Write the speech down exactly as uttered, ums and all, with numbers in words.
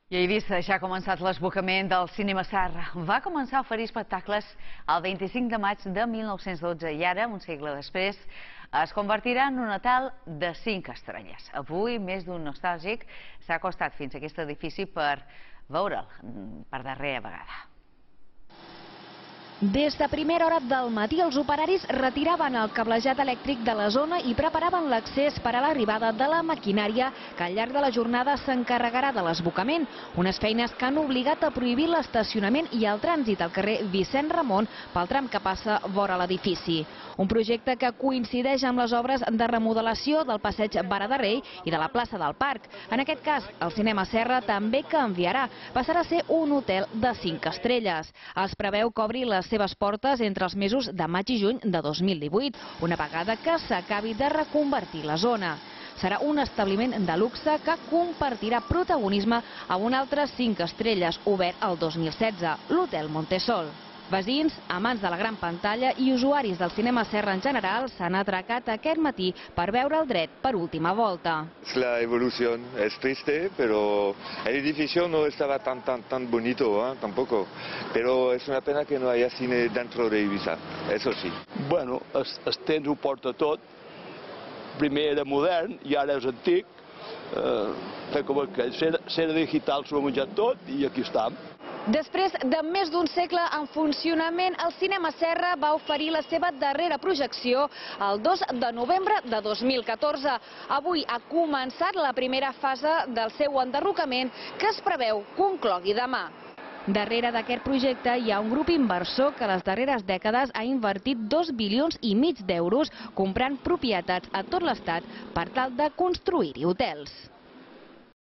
I a Eivissa ja ha començat l'esbocament del Cinema Serra. Va començar a oferir espectacles el vint-i-cinc de maig de mil nou-cents dotze i ara, un segle després, es convertirà en un hotel de cinc estrelles. Avui, més d'un nostàlgic s'ha acostat fins a aquest edifici per veure'l per darrera vegada. Des de primera hora del matí, els operaris retiraven el cablejat elèctric de la zona i preparaven l'accés per a l'arribada de la maquinària que al llarg de la jornada s'encarregarà de l'esbocament. Unes feines que han obligat a prohibir l'estacionament i el trànsit al carrer Vicent Ramon pel tram que passa vora l'edifici. Un projecte que coincideix amb les obres de remodelació del passeig Vara de Rei i de la plaça del Parc. En aquest cas, el Cinema Serra també canviarà. Passarà a ser un hotel de cinc estrelles. Es preveu que obri les seves portes entre els mesos de maig i juny de dos mil divuit, una vegada que s'acabi de reconvertir la zona. Serà un establiment de luxe que compartirà protagonisme amb un altre cinc estrelles obert el dos mil setze, l'Hotel Montesol. Veïns, amants de la gran pantalla i usuaris del Cinema Serra en general s'han atracat aquest matí per veure el dret per última volta. La evolución es triste, pero el edificio no estaba tan tan tan bonito, ¿eh? Tampoco. Pero es una pena que no haya cine dentro de Eivissa, eso sí. Bueno, el, el temps ho porta tot. Primer era modern i ara és antic. Eh, com que era digital s'ho ha menjat tot i aquí estem. Després de més d'un segle en funcionament, el Cinema Serra va oferir la seva darrera projecció el dos de novembre de dos mil catorze. Avui ha començat la primera fase del seu enderrocament que es preveu conclogui demà. Darrere d'aquest projecte hi ha un grup inversor que les darreres dècades ha invertit dos bilions i mig d'euros comprant propietats a tot l'estat per tal de construir-hi hotels.